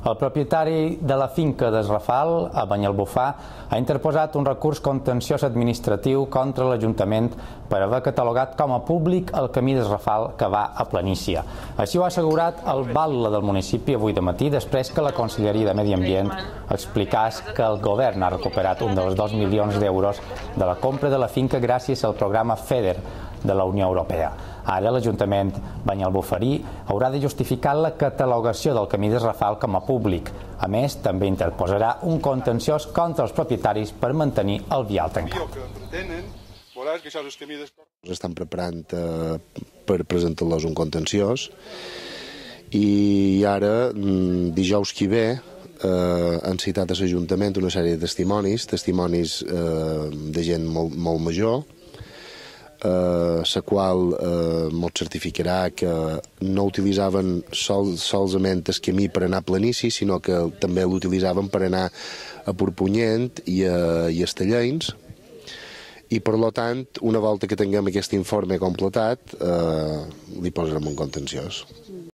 El propietari de la finca d'Es Rafal, a Banyalbufar, ha interposat un recurs contenciós administratiu contra l'Ajuntament per haver catalogat com a públic el camí d'Es Rafal que va a Planícia. Així ho ha assegurat el batlle del municipi avui de matí, després que la Conselleria de Medi Ambient explicàs que el govern ha recuperat un dels 2 milions d'euros de la compra de la finca gràcies al programa FEDER de la Unió Europea. Ara l'Ajuntament banyalbufarí haurà de justificar la catalogació del camí d'Es Rafal com a públic. A més, també interposarà un contenciós contra els propietaris per mantenir el vial tancat. Estan preparant per presentar-los un contenciós i ara, dijous que ve, han citat a l'Ajuntament una sèrie de testimonis de gent molt major, la qual ens certificarà que no utilitzaven solament el camí per anar a Planícia, sinó que també l'utilitzaven per anar a Porpunyent i a Estellencs, i per tant, una volta que tinguem aquest informe completat, li posarem un contenciós.